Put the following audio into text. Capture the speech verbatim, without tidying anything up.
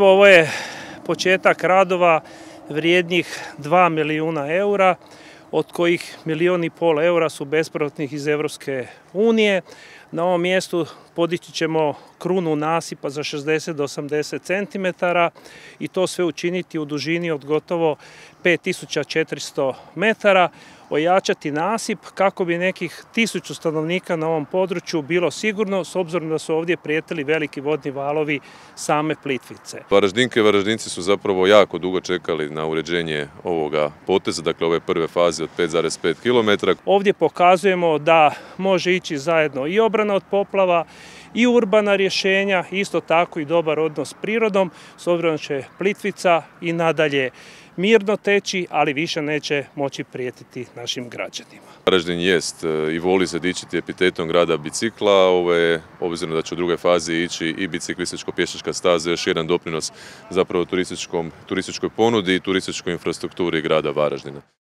Ovo je početak radova vrijednih dva milijuna eura, od kojih milijun i pol eura su bespovratnih iz Europske unije. Na ovom mjestu podići ćemo krunu nasipa za šezdeset do osamdeset centimetara i to sve učiniti u dužini od gotovo pet tisuća četiristo metara, ojačati nasip kako bi nekih tisuću stanovnika na ovom području bilo sigurno, s obzirom da su ovdje prijetili veliki vodni valovi same Plitvice. Varaždinke i Varaždinci su zapravo jako dugo čekali na uređenje ovoga poteza, dakle ove prve faze od pet zarez pet kilometara. Ovdje pokazujemo da može ići zajedno i obrana od poplava i urbana rješenja, isto tako i dobar odnos s prirodom, s obzirom da će Plitvica i nadalje mirno teći, ali više neće moći prijetiti našim građanima. Varaždin jest i voli se dičiti epitetom grada bicikla, ovo je, obzirom da će u drugoj fazi ići i biciklističko-pješačka staza, još jedan doprinos zapravo turističkoj ponudi i turističkoj infrastrukturi grada Varaždina.